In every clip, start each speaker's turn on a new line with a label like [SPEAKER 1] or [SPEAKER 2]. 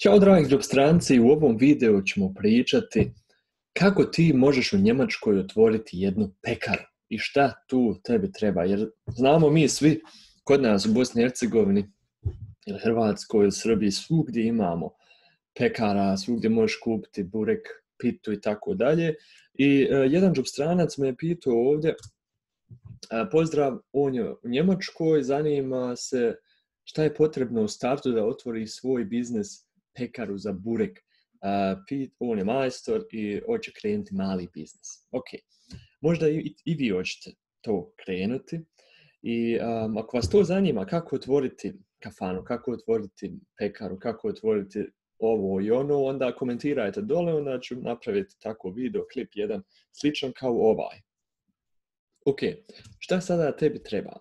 [SPEAKER 1] Ćao dragi stranci, u ovom videu ćemo pričati kako ti možeš u Njemačkoj otvoriti jednu pekaru i šta tu tebi treba. Jer znamo mi svi kod nas u Bosni i Hercegovini ili Hrvatskoj ili Srbiji svugdje imamo pekara, svugdje možeš kupiti burek, pitu i tako dalje. I jedan džubrstranac me je pitao ovdje, pozdrav, on je u Njemačkoj, zanima se šta je potrebno u startu da otvori svoj biznis pekaru za burek. On je majstor i hoće krenuti mali biznis. Ok, možda i vi hoćete to krenuti. I ako vas to zanima kako otvoriti kafanu, kako otvoriti pekaru, kako otvoriti ovo i ono, onda komentirajte dole, onda ću napraviti tako video, klip jedan sličan kao ovaj. Ok, šta sada tebi treba?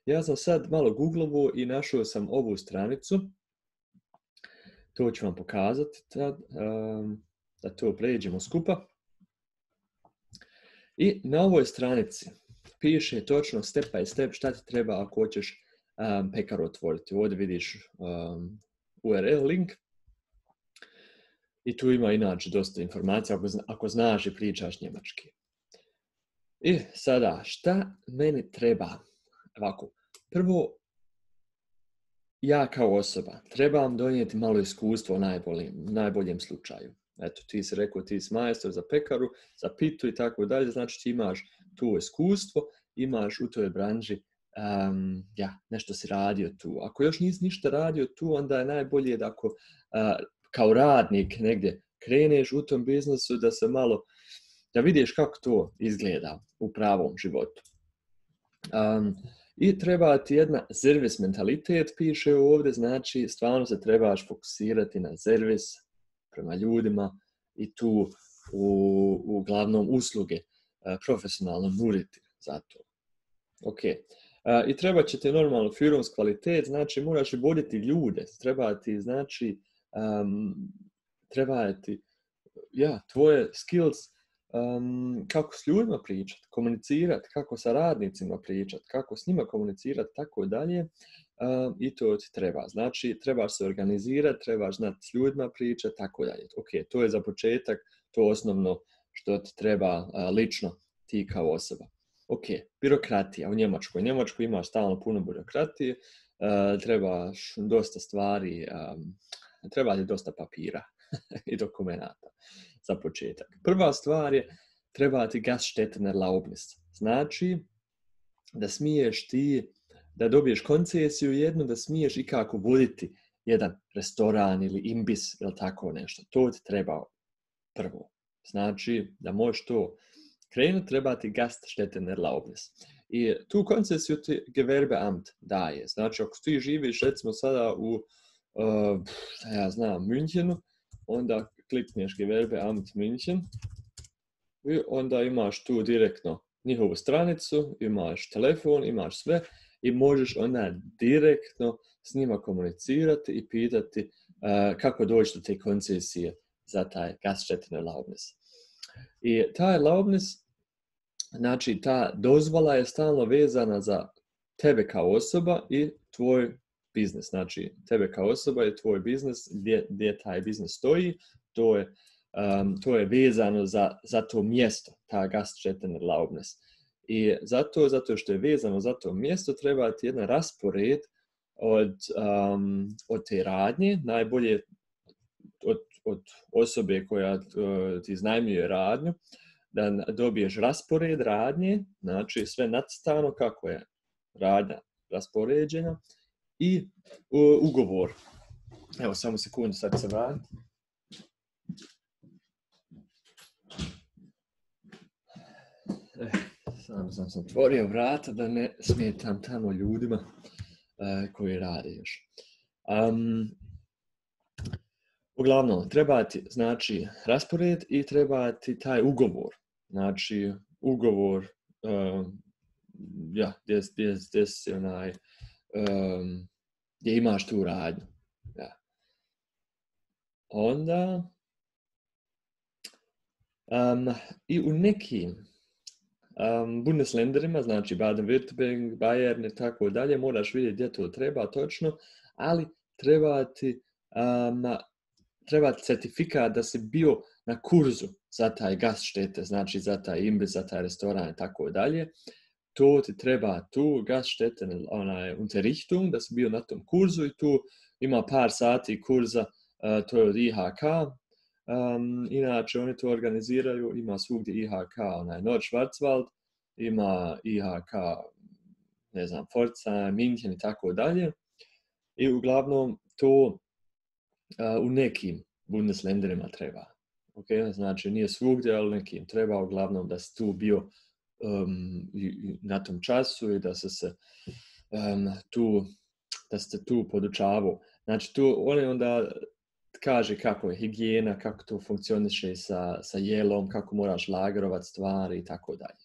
[SPEAKER 1] Ja sam sad malo googlovo i našao sam ovu stranicu. To ću vam pokazati, da to pređemo skupa. I na ovoj stranici piše točno step by step šta ti treba ako hoćeš pekaru otvoriti. Ovdje vidiš URL link. I tu ima inače dosta informacija ako znaš i pričaš njemački. I sada, šta meni treba? Ovako, prvo, ja kao osoba trebam donijeti malo iskustvo u najboljem slučaju. Eto, ti si rekao, ti si majstor za pekaru, za pitu i tako dalje, znači ti imaš tu iskustvo, imaš u toj branži, nešto si radio tu. Ako još nisi ništa radio tu, onda je najbolje da ako kao radnik negdje kreneš u tom biznesu, da vidiš kako to izgleda u pravom životu. I treba ti jedna servis mentalitet, piše ovdje, znači stvarno se trebaš fokusirati na servis prema ljudima i tu uglavnom usluge profesionalno nuditi za to. Ok. I treba će ti normalno firmski kvalitet, znači moraš i voditi ljude, treba ti tvoje skills, kako s ljudima pričati, komunicirati, kako sa radnicima pričati, kako s njima komunicirati, tako dalje. I to ti treba. Znači, trebaš se organizirati, trebaš znati s ljudima pričati, tako dalje. Ok, to je za početak, to osnovno što ti treba lično ti kao osoba. Ok, birokratija u Njemačkoj. U Njemačkoj imaš stalno puno birokratije, trebaš dosta stvari, treba ti dosta papira i dokumenata za početak. Prva stvar je, treba ti Gaststättenerlaubnis. Znači, da smiješ ti, da dobiješ koncesiju jednu, da smiješ i kako voditi jedan restoran ili imbis ili tako nešto. To ti treba prvo. Znači, da možeš to krenuti, treba ti Gaststättenerlaubnis. I tu koncesiju ti Gewerbeamt daje. Znači, ako ti živiš recimo sada u Münchenu, onda klikneš Gewerbeamt München i onda imaš tu direktno njihovu stranicu, imaš telefon, imaš sve i možeš onda direktno s njima komunicirati i pitati kako doći do te koncesije za taj Gaststättenerlaubnis. I ta erlaubnis, znači ta dozvola je stalno vezana za tebe kao osoba i tvoj biznis. Znači, tebe kao osoba je tvoj biznis, gdje taj biznis stoji, to je vezano za to mjesto, ta Gaststättenerlaubnis. I zato što je vezano za to mjesto, treba ti jedan raspored od te radnje, najbolje od osobe koja ti iznajmljuje radnju, da dobiješ raspored radnje, znači sve nacrtano kako je radnja raspoređena, i ugovor. Evo, samo sekundu, sad se vratim. Samo sam otvorio vrata da ne smetam tamo ljudima koji rade još. Uglavnom, treba ti, znači, raspored i treba ti taj ugovor. Znači, ugovor, gdje imaš tu radnju. Ja. Onda, i u nekim Bundesländerima, znači Baden-Württemberg, Bayern i tako dalje, moraš vidjeti gdje to treba točno, ali treba ti treba certifikat da si bio na kurzu za taj Gaststätte, znači za taj imbiz, za taj restoran i tako dalje. To ti treba tu Gaststätte, Unterrichtung, da si bio na tom kurzu i tu ima par sati kurza, to je od IHK. Inače, oni to organiziraju, ima svugdje IHK, Nordschwarzwald, ima IHK, ne znam, Pforzheim, München i tako dalje. I uglavnom to u nekim Bundesländerima treba. Okay? Znači, nije svugdje, ali nekim treba uglavnom da si tu bio na tom času i da se tu podučavao. Znači, tu oni onda kaže kako je higijena, kako to funkcioniše sa jelom, kako moraš lagerovat stvari i tako dalje.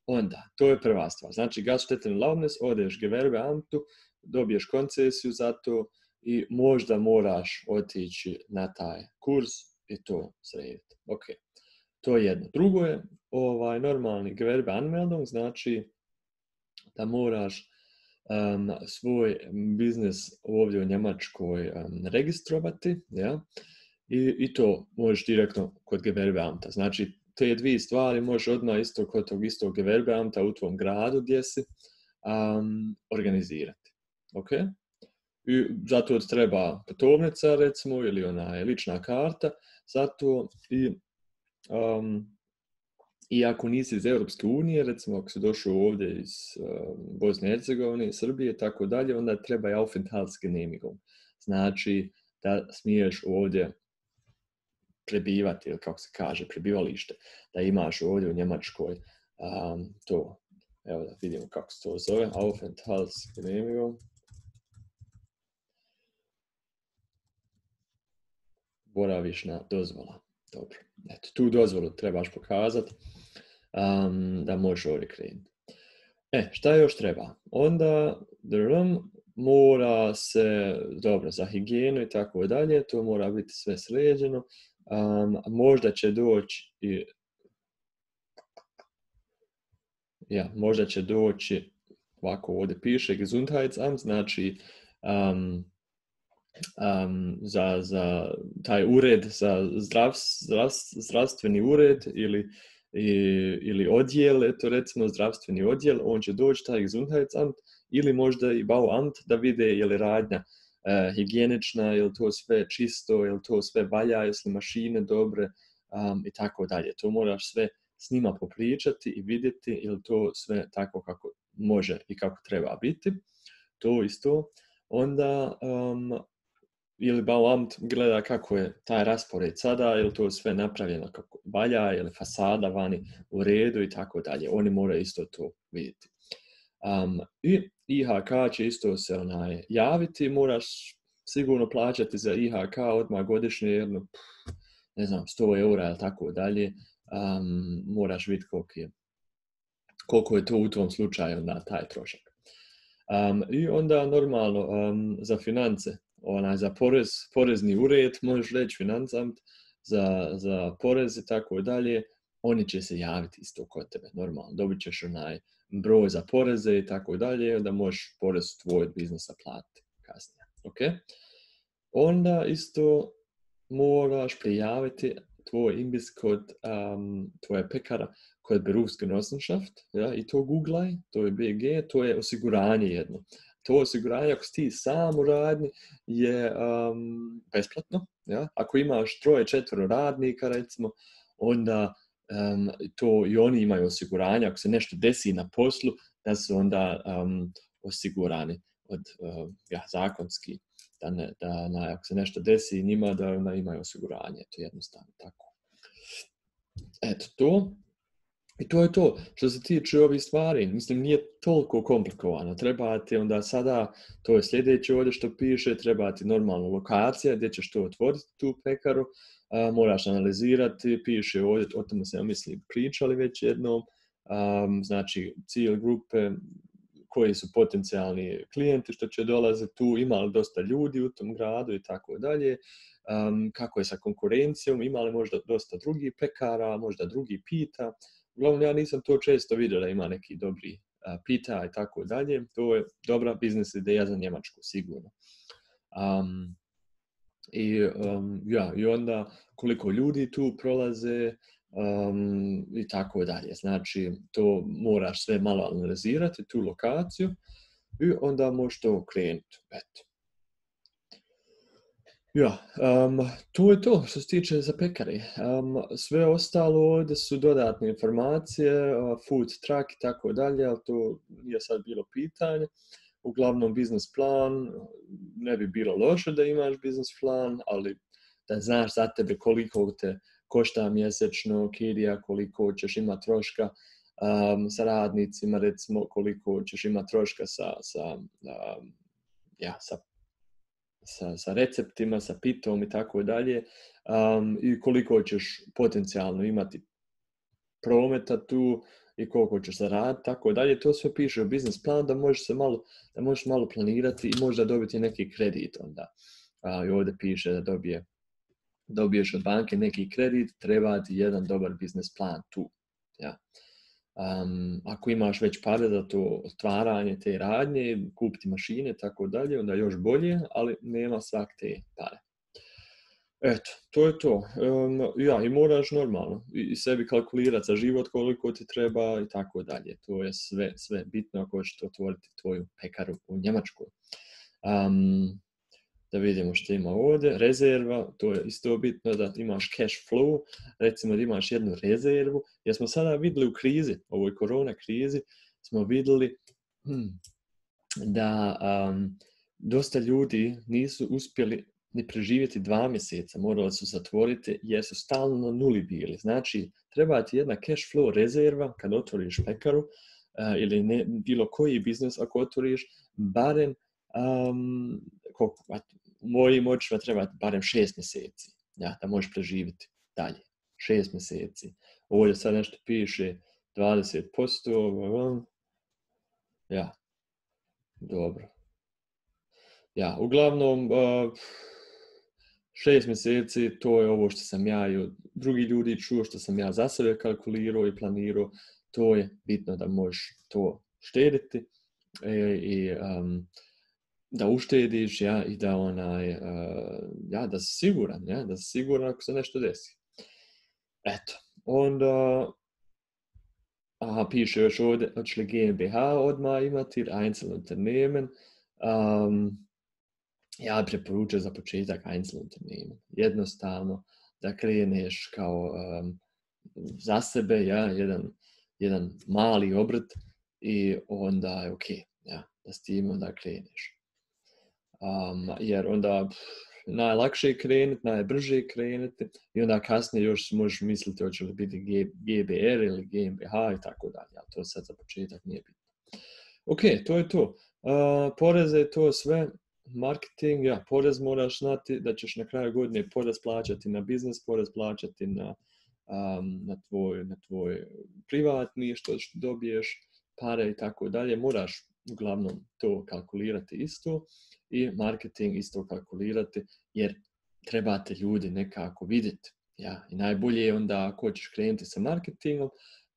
[SPEAKER 1] Onda, to je prva stvar. Znači, Gaststättenerlaubnis, odeš Gewerbeamtu, dobiješ koncesiju za to i možda moraš otići na taj kurs i to srediti. Ok, to je jedno. Drugo je normalni Gewerbeanmeldung, znači da moraš svoj biznis ovdje u Njemačkoj registrovati, ja? I to možeš direktno kod Gewerbeamta. Znači, te dvije stvari možeš odmah isto kod tog istog Gewerbeamta u tvom gradu gdje si organizirati. Ok? I zato ti treba putovnica, recimo, ili lična karta. Zato i ako nisi iz Europske unije, recimo ako si došao ovdje iz Bosne i Hercegovine, Srbije i tako dalje, onda treba i Aufenthaltsgenehmigung. Znači da smiješ ovdje prebivati, ili kako se kaže, prebivalište, da imaš ovdje u Njemačkoj to. Evo da vidimo kako se to zove, Aufenthaltsgenehmigung. Boravišna dozvola. Dobro. Eto, tu dozvolu trebaš pokazati da možeš ovdje krenuti. Šta još treba? Onda mora se, dobro, za higijenu i tako dalje, to mora biti sve sređeno. Možda će doći možda će doći, ovako ovdje piše, Gesundheitsamt, znači za taj ured, za zdravstveni ured ili odjel, eto recimo zdravstveni odjel, on će doći taj Gesundheitsamt ili možda i Bauamt da vide je li radnja higijenična, je li to sve čisto, je li to sve valja, jesu li mašine dobre i tako dalje. To moraš sve s njima popričati i vidjeti je li to sve tako kako može i kako treba biti. To isto. Onda ili Bauamt gleda kako je taj raspored sada, je li to sve napravljeno kako valja, je li fasada vani u redu i tako dalje. Oni moraju isto to vidjeti. I IHK će isto se javiti, moraš sigurno plaćati za IHK odmah godišnje jedno, ne znam, 100 eura ili tako dalje. Moraš vidjeti koliko je to u tom slučaju na taj trošak. I onda normalno za finance, za porezni ured, možeš reći Finanzamt, za porez i tako dalje, oni će se javiti isto kod tebe, normalno. Dobit ćeš broj za poreze i tako dalje, da možeš porez tvoj biznisa platiti kasnije. Okay? Onda isto moraš prijaviti tvoj imbiz kod tvoje pekara kod Berufsgenossenschaft, ja, i to googlaj, to je BG, to je osiguranje jedno. To osiguranje, ako si ti sam u radnji, je besplatno. Ja? Ako imaš 3-4 radnika, recimo, onda to i oni imaju osiguranje. Ako se nešto desi na poslu, da su onda osigurani od zakonski. Ako se nešto desi njima, da onda imaju osiguranje. To je jednostavno tako. Eto to. I to je to. Što se tiče ovih stvari, mislim, nije toliko komplikovano. Treba ti onda sada, to je sljedeće ovdje što piše, treba ti normalna lokacija gdje ćeš to otvoriti, tu pekaru. Moraš analizirati, piše ovdje, o tome se, ja mislim, pričali već jednom. Znači, cilj grupe, koji su potencijalni klijenti što će dolaziti tu, ima li dosta ljudi u tom gradu i tako dalje. Kako je sa konkurencijom, ima li možda dosta drugih pekara, možda drugi pita. Uglavnom, ja nisam to često vidio da ima neki dobri pita i tako dalje. To je dobra biznis ideja za Njemačku, sigurno. I onda koliko ljudi tu prolaze i tako dalje. Znači, to moraš sve malo analizirati, tu lokaciju, i onda možeš to krenuti. Eto. To je to što se tiče za pekare. Sve ostalo ovdje su dodatne informacije, food truck i tako dalje, ali to nije sad bilo pitanje. Uglavnom, biznis plan, ne bi bilo loše da imaš biznis plan, ali da znaš za tebe koliko te košta mjesečno, kirija, koliko ćeš imati troška sa radnicima, recimo koliko ćeš imati troška sa receptima, sa pitom i tako dalje, i koliko ćeš potencijalno imati prometa tu i koliko ćeš zaraditi, tako dalje. To sve piše u biznis plan da možeš malo planirati i možda dobiti neki kredit onda. I ovdje piše da dobiješ od banke neki kredit, treba ti jedan dobar biznis plan tu. Ja. Ako imaš već pare za to otvaranje te radnje, kupiti mašine, tako dalje, onda još bolje, ali nema svak te pare. Eto, to je to. I moraš normalno i sebi kalkulirati za život koliko ti treba i tako dalje. To je sve bitno ako hoćeš otvoriti tvoju pekaru u Njemačkoj. Da vidimo što ima ovdje. Rezerva, to je isto bitno da imaš cash flow, recimo da imaš jednu rezervu, jer smo sada vidjeli u krizi, ovoj korona krizi, smo vidjeli da dosta ljudi nisu uspjeli ni preživjeti 2 mjeseca, morali su zatvoriti jer su stalno na nuli bili. Znači, treba ti jedna cash flow rezerva kad otvoriš pekaru ili bilo koji biznis ako otvoriš, barem mojim očima treba barem 6 mjeseci, ja, da možeš preživjeti dalje. 6 mjeseci. Ovdje sad nešto piše 20%. Ja, dobro. Ja, uglavnom 6 mjeseci, to je ovo što sam ja i od drugih ljudi čuo, što sam ja za sebe kalkulirao i planirao. To je bitno da možeš to štediti i da uštediš, ja, i da da si siguran, ja, da si siguran ako se nešto desi. Eto, onda piše još ovdje, hoće li GmbH odmah imati, Einzelunternehmen. Ja preporučujem za početak Einzelunternehmen. Jednostavno da kreneš kao za sebe, ja, jedan mali obrt i onda je ok, ja, da s tim onda kreneš. Jer onda najlakše je krenuti, najbrže je krenuti i onda kasnije još možeš misliti hoće li biti GBR ili GmbH i tako dalje, ali to sad za početak nije bitno. Ok, to je to. Poreze je to sve. Marketing, ja, porez moraš znati da ćeš na kraju godine porez plaćati na biznis, porez plaćati na tvoj privatni, što dobiješ pare i tako dalje. Moraš uglavnom to kalkulirati isto i marketing isto kalkulirati jer trebate ljudi nekako vidjeti. Ja, i najbolje je onda ako ćeš krenuti sa marketingom,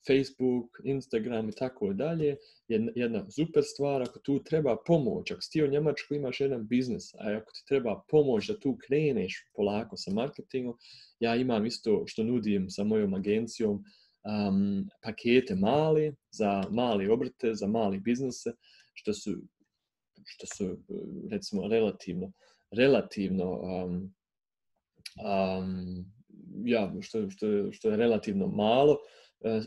[SPEAKER 1] Facebook, Instagram i tako dalje, je jedna super stvar. Ako tu treba pomoć, ako si ti u Njemačkoj imaš jedan biznis, a ako ti treba pomoć da tu kreneš polako sa marketingom, ja imam isto što nudim sa mojom agencijom, pakete mali, za mali obrte, za mali biznise, što su recimo relativno što je relativno malo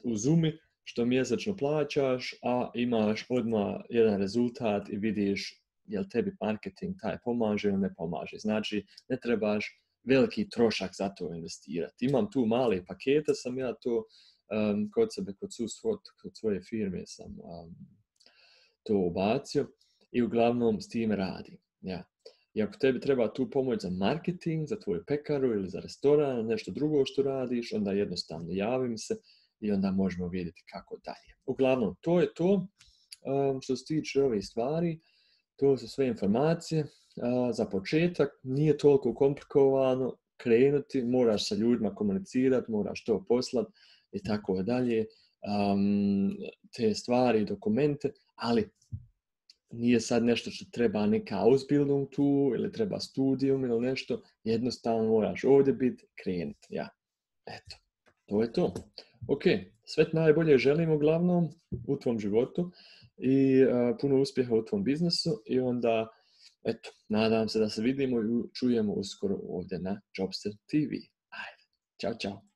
[SPEAKER 1] u Zumi, što mjesečno plaćaš, a imaš odmah jedan rezultat i vidiš jel tebi marketing taj pomaže ili ne pomaže. Znači, ne trebaš veliki trošak za to investirati. Imam tu male pakete, sam ja to kod sebe, kod svoje firme sam to ubacio i uglavnom s tim radim. Ja. I ako tebi treba tu pomoć za marketing, za tvoju pekaru ili za restoran, nešto drugo što radiš, onda jednostavno javim se i onda možemo vidjeti kako dalje. Uglavnom, to je to što se tiče ove stvari. To su sve informacije. Za početak nije toliko komplikovano krenuti, moraš sa ljudima komunicirati, moraš to poslati i tako dalje. Te stvari, dokumente, ali nije sad nešto što treba neka Ausbildung tu ili treba studijum ili nešto, jednostavno moraš ovdje biti, krenuti, ja. Eto, to je to. Ok, sve najbolje želim uglavnom u tvom životu i puno uspjeha u tvom biznesu i onda, eto, nadam se da se vidimo i čujemo uskoro ovdje na Jobster TV. Ajde, čao, čao.